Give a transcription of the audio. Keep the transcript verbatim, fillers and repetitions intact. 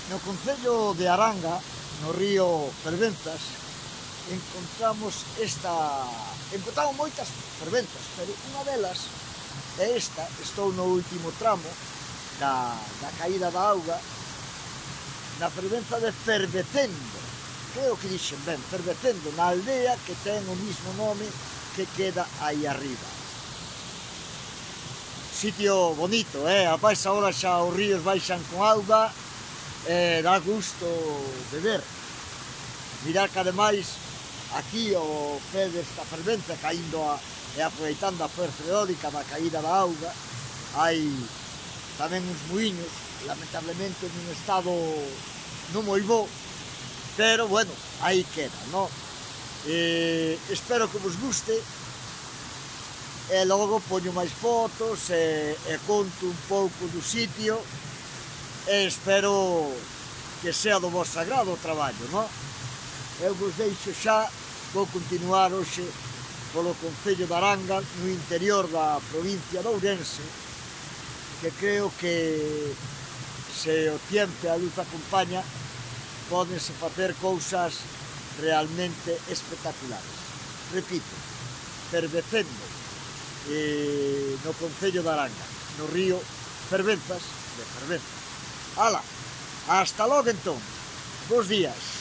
No concello de Aranga, no río Fervenzas, encontramos esta... encontramos moitas fervenzas, pero unha delas é esta. Estou no último tramo da, da caída da auga, na fervenza de Fervecendo, creo que dixen ben, Fervecendo, na aldea que ten o mismo nome que queda aí arriba. Sitio bonito, eh? Apais agora xa os ríos baixan con auga, eh, dá gusto de ver. Mirar que ademais aquí o pé desta fervenza, caindo a, e aproveitando a fuerza eólica da caída da auga, hai tamén uns muiños, lamentablemente nun estado non moi bo, pero bueno, aí queda, non? Eh, espero que vos guste, e logo poño máis fotos e, e conto un pouco do sitio, e espero que sea do vosso agrado o traballo, non? Eu vos deixo xa, vou continuar hoxe polo concello de Aranga, no interior da provincia de Ourense, que creo que se o tempo e a luz acompaña, pódense facer cousas realmente espectaculares. Repito, Fervecendo, eh, no concello de Aranga, no río Fervenzas de Fervenzas. Ala, hasta logo entón, bons días.